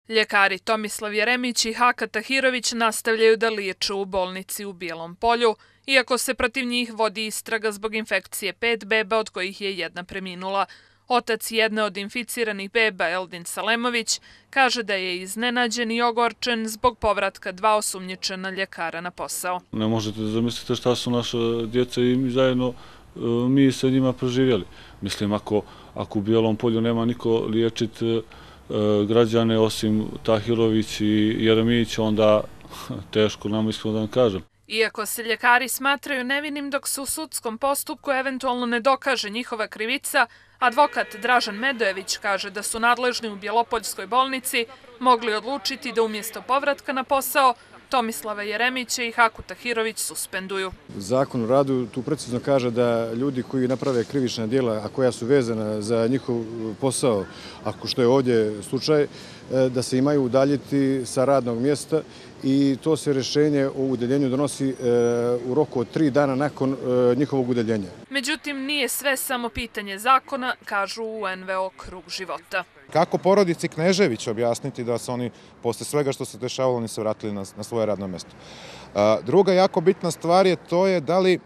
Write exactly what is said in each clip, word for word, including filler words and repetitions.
Ljekari Tomislav Jeremić i Haka Tahirović nastavljaju da liječe u bolnici u Bijelom Polju, iako se protiv njih vodi istraga zbog infekcije pet beba, od kojih je jedna preminula. Otac jedne od inficiranih beba, Eldin Salemović, kaže da je iznenađen i ogorčen zbog povratka dva osumnjičena ljekara na posao. Ne možete da zamislite šta su naša djeca i mi zajedno mi sa njima proživjeli. Mislim, ako, ako u Bijelom Polju nema niko liječiti građane osim Tahirović i Jeremić, onda teško nam iskreno da vam kažem. Iako se ljekari smatraju nevinim dok se u sudskom postupku eventualno ne dokaže njihova krivica, advokat Dražan Medojević kaže da su nadležni u Bjelopoljskoj bolnici mogli odlučiti da umjesto povratka na posao Tomislava Jeremića i Haku Tahirović suspenduju. Zakon o radu tu precizno kaže da ljudi koji naprave krivična djela, a koja su vezana za njihov posao, ako što je ovdje slučaj, da se imaju udaljiti sa radnog mjesta i to se rješenje o udaljenju donosi u roku od tri dana nakon njihovog udaljenja. Međutim, nije sve samo pitanje zakona, kažu u en ve o Krug života. Kako porodici Knežević objasniti da se oni, posle svega što se dešavalo, oni se vratili na, na svoje radno mjesto? Druga jako bitna stvar je to je da li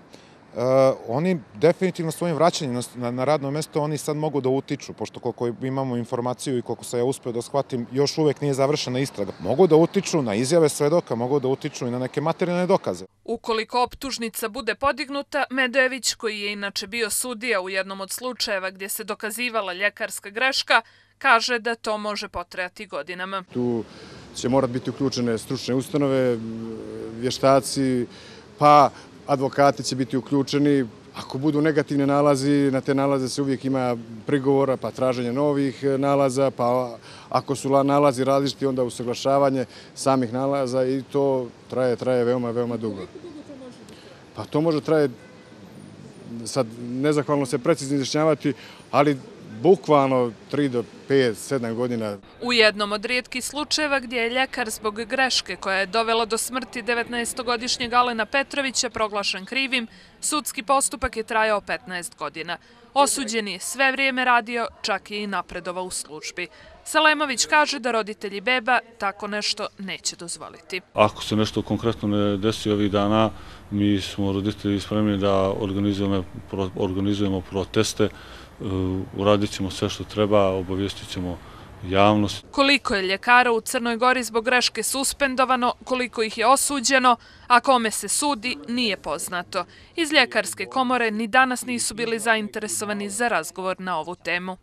Uh, oni definitivno svojim vraćanjem na, na radno mjesto oni sad mogu da utiču, pošto koliko imamo informaciju i koliko se ja uspio da shvatim, još uvijek nije završena istraga. Mogu da utiču na izjave svedoka, mogu da utiču i na neke materijalne dokaze. Ukoliko optužnica bude podignuta, Medojević, koji je inače bio sudija u jednom od slučajeva gdje se dokazivala ljekarska greška, kaže da to može potrajati godinama. Tu će morati biti uključene stručne ustanove, vještaci, pa advokati će biti uključeni. Ako budu negativni nalazi, na te nalaze se uvijek ima prigovora, pa traženje novih nalaza, pa ako su nalazi različiti, onda usaglašavanje samih nalaza i to traje, traje veoma, veoma dugo. Pa to može traje, sad nezahvalno se precizno izjašnjavati, ali bukvalno tri do pet, sedam godina. U jednom od rijetkih slučajeva gdje je ljekar zbog greške koja je dovela do smrti devetnaestogodišnjeg Alena Petrovića proglašen krivim, sudski postupak je trajao petnaest godina. Osuđen je sve vrijeme radio, čak je i napredovao u službi. Salemović kaže da roditelji beba tako nešto neće dozvoliti. Ako se nešto konkretno ne desi ovih dana, mi smo roditelji spremni da organizujemo, organizujemo proteste, uradit ćemo sve što treba, obavijestit ćemo javnost. Koliko je ljekara u Crnoj Gori zbog greške suspendovano, koliko ih je osuđeno, a kome se sudi, nije poznato. Iz ljekarske komore ni danas nisu bili zainteresovani za razgovor na ovu temu.